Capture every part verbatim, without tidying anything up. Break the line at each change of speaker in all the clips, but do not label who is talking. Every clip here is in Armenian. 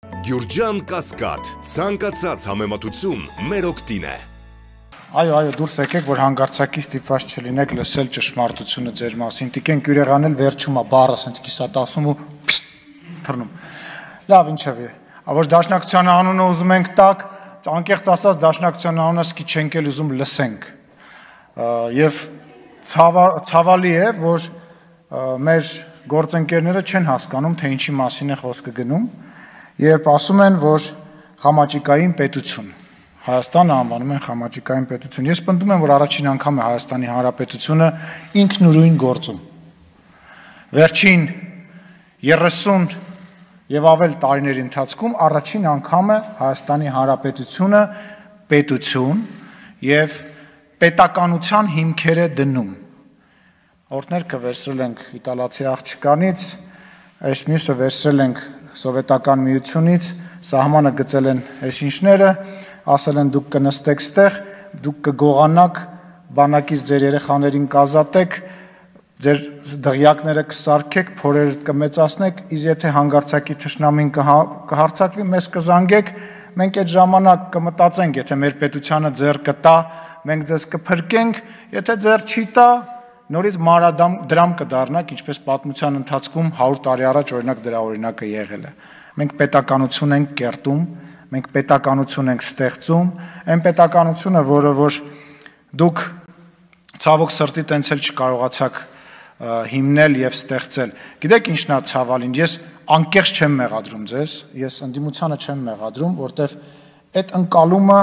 Գյուրջան Կասկադ, ցանկացած համեմատություն մեր օգտին է։
Այո, այո, դուրս եկեք, որ հանգարցակի ստիպված չլինեք լսել ճշմարտությունը ձեր մասին։ Տիկենք յուրեղանել վերջում է բառը ասենց կիսատասում ու թռնում։ Լավ, ինչևէ, որ դաշնակցության անունը ուզում ենք տակ, անկեղծ ասած դաշնակցության անունը սկի չենք էլ ուզում լսենք։ Եվ ցավալի է, որ մեր գործընկերները չեն հասկանում, թե ինչի մասին է խոսքը գնում, երբ ասում են, որ խամաճիկային պետություն, Հայաստանը անվանում են խամաճիկային պետություն։ Ես պնդում եմ, որ առաջին անգամ է Հայաստանի Հանրապետությունը ինքնուրույն գործում։ Վերջին երեսուն եւ ավել տարիների ընթացքում առաջին անգամ է Հայաստանի Հանրապետությունը պետություն եւ պետականության հիմքեր է դնում։ Օրդներքը վերցրել ենք իտալացի աղջկանից, այս մյուսը վերցրել ենք սովետական միությունից, սահմանը գծել են այս ինչները, ասել են դուք կնստեք ստեղ, դուք կգողանաք, բանակից ձեր երեխաներին կազատեք, ձեր դղյակները կսարքեք, փորերը կմեծացնեք, իսկ եթե հանգարցակի թշնամին կհարձակվի, մեզ կզանգեք, մենք այդ ժամանակ կմտածենք, եթե մեր պետությանը ձեռ կտա, մենք ձեզ կփրկենք, եթե ձեռ չի տա, նորից մանրադրամ կդառնանք, ինչպես պատմության ընթացքում հարյուր տարի առաջ օրինակ դրա օրինակը եղել է։ Մենք պետականություն ենք կերտում, մենք պետականություն ենք ստեղծում, այն պետականությունը, որը որ դուք ցավոք սրտի տենց էլ չկարողացաք հիմնել եւ ստեղծել։ Գիտեք ինչն է ցավալին, ես անկեղծ չեմ մեղադրում ձեզ, ես ընդդիմությանը չեմ մեղադրում, որտեվ այդ ընկալումը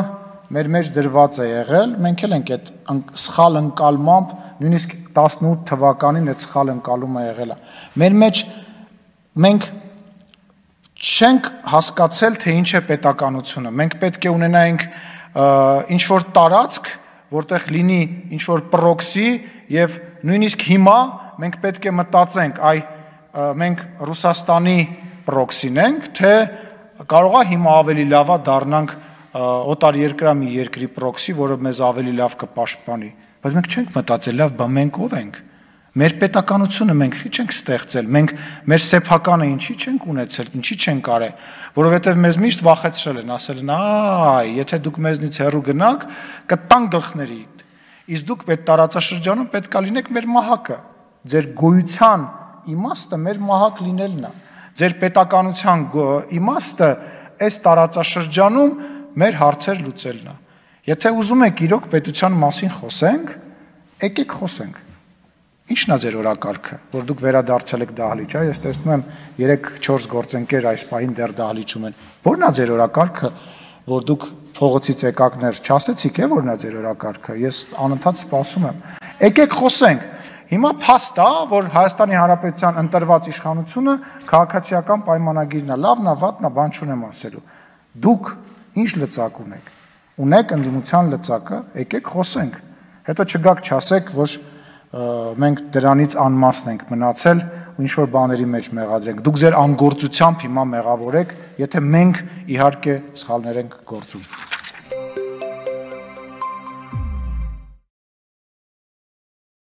մեր մեջ դրված է եղել, մենք էլ ենք այդ սխալ ընկալմամբ, նույնիսկ տասնութ թվականին այդ սխալ ընկալումը եղել է։ Մեր մեջ մենք չենք հասկացել, թե ինչ է պետականությունը։ Մենք պետք է ունենայինք ինչ-որ տարածք, որտեղ լինի ինչ-որ պրոքսի եւ նույնիսկ հիմա մենք պետք է մտածենք, այ մենք Ռուսաստանի պրոքսին ենք, թե կարող է հիմա ավելի լավա դառնանք օտարերկրամի երկրի պրոքսի, որը մեզ ավելի լավ կպաշտպանի։ Բայց մենք չենք մտածել, լավ, բա մենք ով ենք։ Մեր պետականությունը մենք ի՞նչ ենք ստեղծել, մենք մեր սեփականը ինչի չենք ունեցել, ինչի չենք արել, որովհետև մեզ միշտ վախեցրել են, ասել են, այ, եթե դուք մեզնից հեռու գնաք, կտան գլխների։ Իսկ դուք այդ տարածաշրջանում պետք է լինեք մեր մահակը։ Ձեր գոյության իմաստը մեր մահակ լինելն է։ Ձեր պետականության իմաստը այս տարածաշրջանում մեր հարցեր լուծելն է։ Եթե ուզում եք իրոք պետության մասին խոսենք, եկեք խոսենք։ Ինչն է ձեր օրակարգը, որ դուք վերադարձել եք դահլիճ, ես տեսնում եմ երեք-չորս գործընկեր այս պահին դեռ դահլիճում են։ Ո՞րն է ձեր օրակարգը, որ դուք փողոցից եկակներ չասեցիք, է ո՞րն է ձեր օրակարգը։ Ես անընդհատ սպասում եմ։ Եկեք խոսենք։ Հիմա փաստ է, որ Հայաստանի Հանրապետության ընտրված իշխանությունը քաղաքացիական պայմանագիրն է, լավն է, վատն է, բան չունեմ ասելու։ Դուք ինչ լծակ ունեք։ Ունեք ընդդիմության լծակը, եկեք խոսենք։ Հետո չգաք չասեք, որ մենք դրանից անմասն ենք մնացել ու ինչ-որ բաների մեջ մեղադրենք։ Դուք ձեր անգործությամբ հիմա մեղավոր եք, եթե մենք իհարկե սխալներ ենք գործում։